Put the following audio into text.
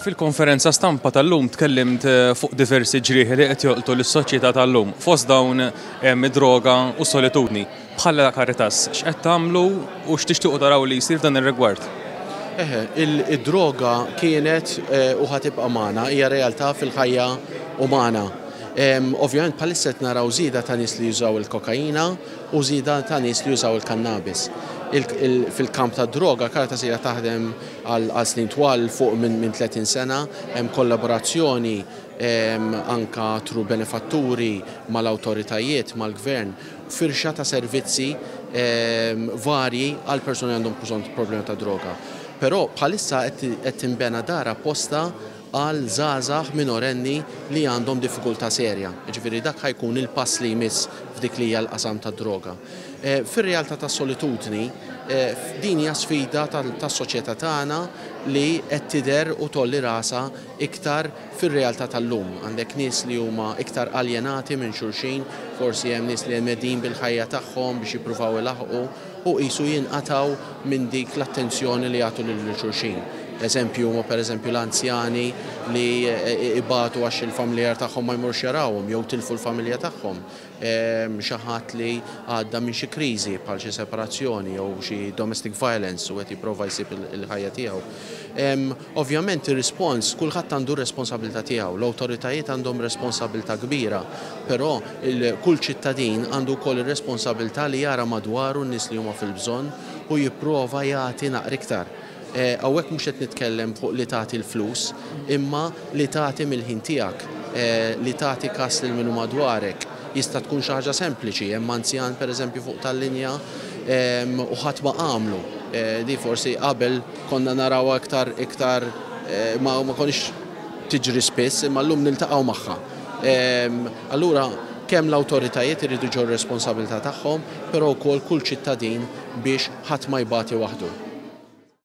Fil-konferenza stampa tal-lum tkellimt fuq diversi ġrieħi li qed jolqtu lis-soċjetà tal-lum. Fost dawn hemm id-droga u s-solitudni. Bħala Caritas, x'qed tagħmlu u x'tixtiequ taraw li jsir f'dan ir-rigward? Eħe, id-droga kienet u ħa tibqa' magħna, hija realtà fil-ħajja umana. Ovvjament bħalissa qed naraw żieda ta' nies li jużaw il-kokaina u żieda ta' nies li jużaw il-kannabis. Fil-kamp tad-droga, Caritas ilha taħdem għal snin twal, 'l fuq minn 30 sena, hemm kollaborazzjoni anka through benefatturi mal-awtoritajiet, mal-gvern, firxa ta' servizzi varji għal persuni li għandhom bżonn problema ta' droga. Però bħalissa qed tinbena dar apposta għal żgħażagħ minorenni li għandhom diffikultà serja. Jiġifieri dak ħa jkun il-pass li jmiss f'dik li hija l-qasam tad-droga. Fir-realtà tas-solitudni, din hija sfida tas-soċjetà tagħna li qed tidher u tgħolli rasha iktar fir-realtà tal-lum. Għandek nies li huma iktar aljenati minn xulxin, forsi hemm nies li medin bil-ħajja tagħhom biex jippruvaw ilaħħqu u qisu jinqatgħu minn dik l-attenzjoni li jagħtu lil xulxin. Eżempju huma pereżempju l-anzjani li ibatu għax il-familjar tagħhom ma jmorrux jarawhom jew tilfu l-familja tagħhom. Xi ħadd li għadda minn xi kriżi bħal xi separazzjoni jew xi domestic violence u qed jipprova jsib il-ħajja tiegħu. Ovvjament ir-rispons, kulħadd għandu r-responsabilità tiegħu, l-awtoritajiet għandhom responsabilità kbira, però kull ċittadin għandu wkoll ir-responsabilità li jara madwaru n-nies li huma fil-bżonn u jipprova jagħti naqra iktar. Hawnhekk mhux qed nitkellem fuq li tagħti l-flus, imma li tagħti mill-ħin tiegħek, li tagħti kas lil min hu madwarek. Jista' tkun xi ħaġa sempliċi, hemm anzjan pereżempju fuq tal-linja u ħadd ma qamlu. Di forsi qabel konna narawha iktar iktar ma konniex tiġri spiss, imma llum niltaqgħu magħha. Allura kemm l-awtoritajiet iridu jġorru r-responsabilità tagħhom, però wkoll kull ċittadin biex ħadd ma jbati waħdu.